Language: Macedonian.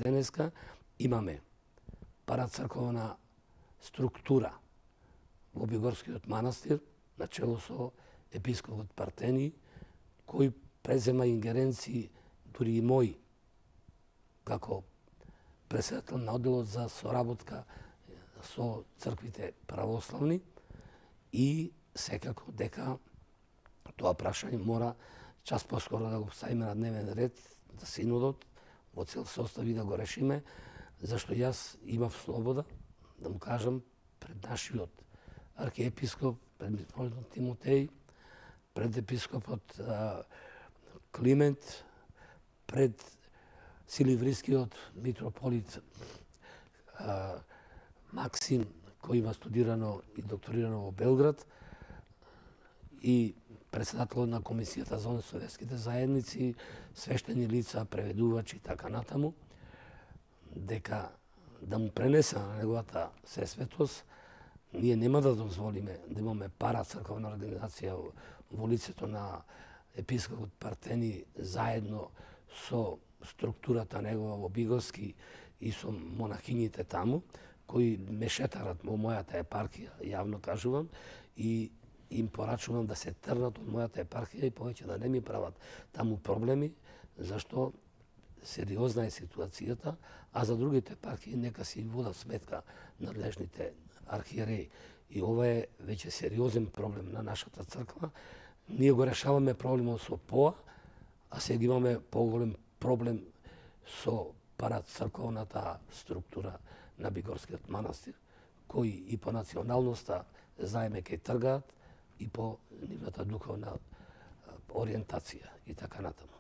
денеска имаме парацрковна структура во Бигорскиот манастир, начело со епископот Партени, кој презема ингеренции дури и мои, како председател на одделот за соработка со црквите православни, и секако дека тоа прашање мора час поскоро да го ставиме на дневен ред за синодот во цел состав и да го решиме, зашто јас имав слобода да му кажам пред нашиот архиепископ, пред митрополитот Тимотеј, пред епископот Климент, пред силиврискиот митрополит Максим, кој има студирано и докторирано во Белград, и председателот на Комисијата за советските заедници, свештени лица, преведувачи и така натаму, дека да му пренеса на неговата сесветост, ние нема да дозволиме да имаме парацрковна организација во лицето на епископот Партени заедно со структурата негова во Бигорски и со монахињите таму, кои ме шетарат во мојата епархија, јавно кажувам, и им порачувам да се трнат од мојата епархија и повеќе да не ми прават таму проблеми, зашто сериозна е ситуацијата, а за другите епархии нека си водат сметка надлежните архиереи. И ова е веќе сериозен проблем на нашата црква. Ние го решаваме проблемот со ПОА, а сега имаме поголем проблем со парацрковната структура на Бигорскиот манастир, кои и по националноста знаеме кај тргаат, и по нивната духовна ориентација и така натаму.